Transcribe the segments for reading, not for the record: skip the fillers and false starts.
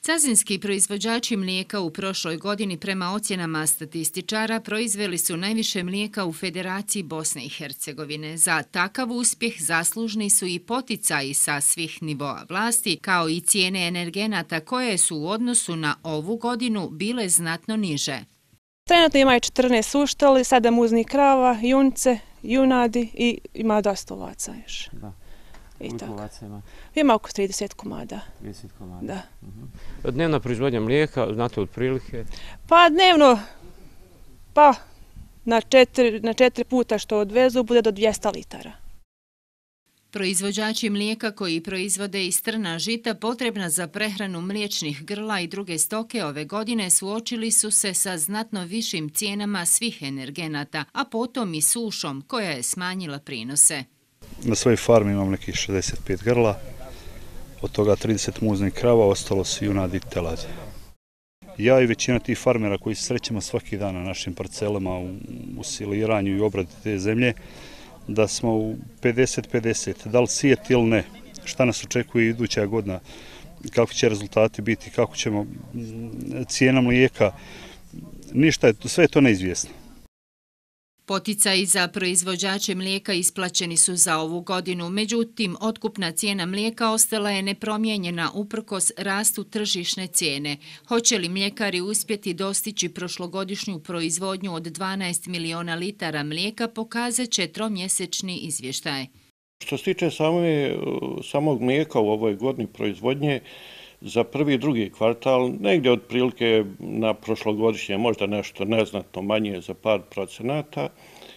Cazinski proizvođači mlijeka u prošloj godini prema ocjenama statističara proizveli su najviše mlijeka u Federaciji Bosne i Hercegovine. Za takav uspjeh zaslužni su i poticaji sa svih nivoa vlasti, kao i cijene energenata koje su u odnosu na ovu godinu bile znatno niže. Trenutno imaju 14 suštali, 7 muznih krava, junce, junadi i ima dosta ovaca još. Koliko ovaca ima? Ima oko 30 komada. 30 komada? Da. Dnevna proizvodnja mlijeka, znate otprilike? Pa dnevno, na 4 puta što odvezu bude do 200 litara. Proizvođači mlijeka koji proizvode iz trna žita potrebna za prehranu mliječnih grla i druge stoke ove godine suočili su se sa znatno višim cijenama svih energenata, a potom i sušom koja je smanjila prinose. Na svojoj farmi imam nekih 65 grla, od toga 30 muznih krava, ostalo su junadi i teladi. Ja i većina tih farmera koji se srećemo svaki dan na našim parcelama u siliranju i obradi te zemlje, da smo u 50-50, da li sijeti ili ne, šta nas očekuje iduća godina, kako će rezultati biti, kako ćemo, cijena mlijeka, ništa, sve je to neizvjesno. Poticaji za proizvođače mlijeka isplaćeni su za ovu godinu, međutim, otkupna cijena mlijeka ostala je nepromijenjena uprkos rastu tržišne cijene. Hoće li mljekari uspjeti dostići prošlogodišnju proizvodnju od 12 miliona litara mlijeka, pokazat će tromjesečni izvještaj. Što se tiče samog mlijeka u ovoj godini proizvodnje, za prvi i drugi kvartal, negdje otprilike na prošlogodišnje, možda nešto neznatno manje za par procenata,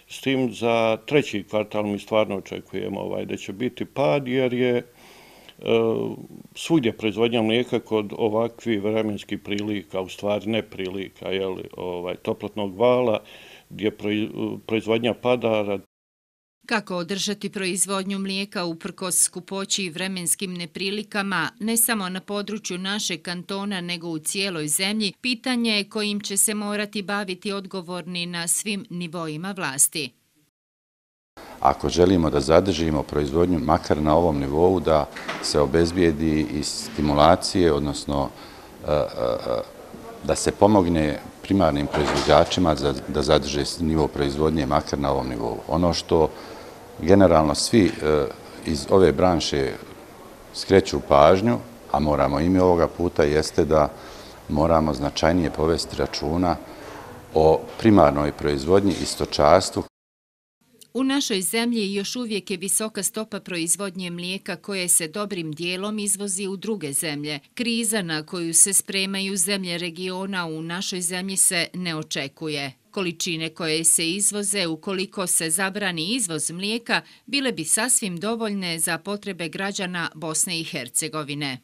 s tim za treći kvartal mi stvarno očekujemo da će biti pad, jer je svugdje proizvodnja mlijeka kod ovakvih vremenskih prilika, u stvari neprilika, toplotnog vala, gdje proizvodnja pada. Kako održati proizvodnju mlijeka uprkos skupoći i vremenskim neprilikama, ne samo na području našeg kantona, nego u cijeloj zemlji, pitanje je kojim će se morati baviti odgovorni na svim nivoima vlasti. Ako želimo da zadržimo proizvodnju makar na ovom nivou, da se obezbijedi i stimulacije, odnosno da se pomogne primarnim proizvođačima da zadrže nivo proizvodnje makar na ovom nivou. Ono što generalno svi iz ove branše skreću pažnju, a moramo i mi ovoga puta, jeste da moramo značajnije povesti računa o primarnoj proizvodnji i stočarstvu. U našoj zemlji još uvijek je visoka stopa proizvodnje mlijeka koje se dobrim dijelom izvozi u druge zemlje. Kriza na koju se spremaju zemlje regiona u našoj zemlji se ne očekuje. Količine koje se izvoze, ukoliko se zabrani izvoz mlijeka, bile bi sasvim dovoljne za potrebe građana Bosne i Hercegovine.